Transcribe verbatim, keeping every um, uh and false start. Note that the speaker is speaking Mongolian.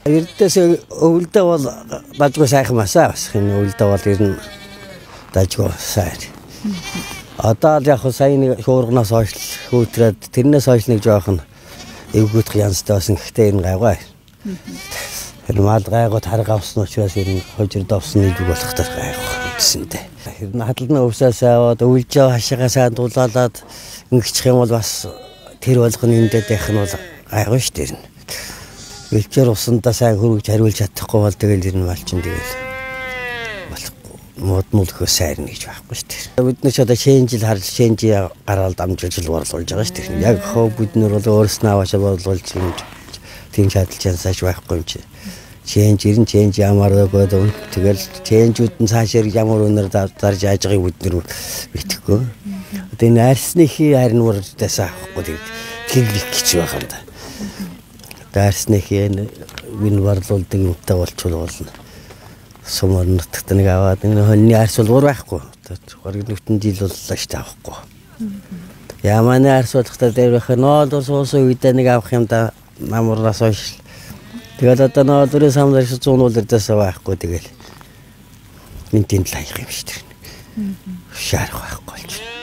Эрдээс өвөлдөө бол дажгүй сайхан масаа бас энэ өвөлдөө бол ер нь дажгүй сайн. Одоо л яг сайн нэг хуурганаас хойш хөөтрээд тэрнээс хойш нэг жоохон эвгүйдэх янзтай байсан гэхдээ энэ гайгүй. Тэр мал гайгүй тарга авсан учраас ер нь хожирд авсан нэг болох төр гайгүй гэсэнтэй. Тэр нь хадалны өвсөөс аваад өвлж хашаага сайн дулаалаад ингэчих юм бол бас тэр болгоны эндээ дэх нь бол гайгүй шүү дээ. Өвчөр усандаа сайн хөргөж хариулж чадахгүй бол тэгэл ер нь малчин тэгэл болохгүй моднуулах сайн гэж байхгүй шүү дээ. Бид нар ч одоо шэнжил харж шэнжи гараад амжилж борлуулж байгаа шүү дээ. Яг хөө бид нар бол өөрснөө аваашаа борлуулж юм тийм чадалж янсааш байхгүй юм чи. Чэнж ирэн чэнж ямар өгөөд тэгэл чэнжүүд нь цаашаар ямар өнөр зарж яаж байгааг бид нар мэдхгүй. Одоо энэ арсны хий харин урдаас авахгүй тэглэх гэж байгаа юм да. Арсны хий вин борлуулдаг юмтай болчихвол болно. Сумар нутагт нэг аваад энэ хоньны арс бол уур байхгүй. Хориг нүтэн жил боллоо шүү дээ авахгүй. Яманы арс болохтой дээр байх ноолор суусан үедээ нэг авах юм да намуураас хойш. Тэгэл одоо ноолорын самлаар зүүн уулдаас байхгүй тэгэл. Минтийн талаах юм шүү дээ. Шаарах байхгүй болж.